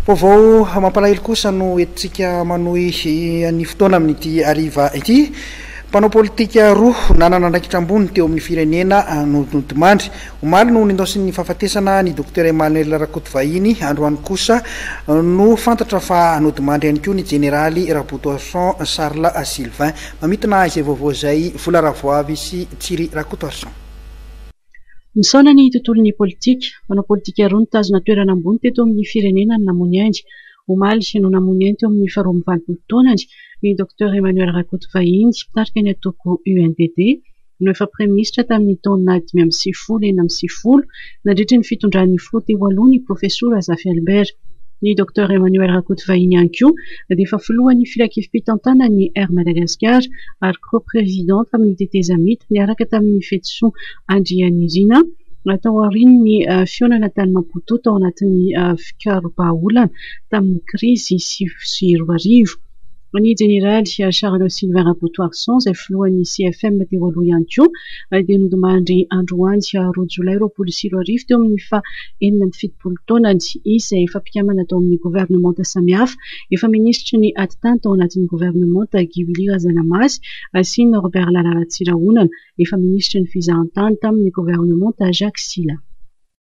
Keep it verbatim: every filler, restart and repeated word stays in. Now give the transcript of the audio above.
Vaovao mampalahelo kosa no entintsika manohy ny fotoana amin'ity hariva ity. Mpanao politika roa nanana andraikitra ambony teo amin'ny firenena no nodimandry. Omaly no nindaosin'ny fahafatesana ny Docteur Emmanuel Rakotovahiny, androany kosa no fantatra fa nodimandry ihany koa ny jeneraly Rabotoarison Charles Sylvain. Mamintina izay vaovao izay Vola Ravoavy sy Tsiry Rakotoarison. Misaona ny tontolon'ny politika. Mpanao politika roa nitazona toerana ambony teto amin'ny firenena ny namoy ainy. Omaly no namoy ainy teo amin'ny faharoa amby valopolo taonany ny Docteur Emmanuel Rakotovahiny, mpitarika ny antoko U N D D, no efa praiminisitra tamin'ny taona dimy amby sivifolo enina amby sivifolo nandritra ny fitondran'ny filoha teo aloha ny profesora Zafy Albert. Ny Docteur Emmanuel Rakotovahiny ihany koa dia efa filohan'ny filankevi-pitantanan'ny Air Madagascar ary co-président tamin'ny tetezamita niaraka tamin'ny Fetison Andrianirina natao aorian'ny fihaonana tany Maputo tao anatin'ny fikaroham-bahaolana tamin'ny krizy sivy sy roa arivo. Ny jeneraly Charles Sylvain Rabotoarison izay filohan'ny C F M teo aloha ihany koa dia nodimandry androany roa jolay roapolo sy roa arivo teo amin'ny faha enina amby fitopolo taonany. Izy izay efa mpikambana tao amin'ny governemanta samihafa, efa minisitry ny atitany tao anatin'ny governemanta Guy Willy Razanamasy sy Norbert Lala Ratsirahonana, efa minisitry ny fizahantany tamin'ny governemanta Jacques Sylla.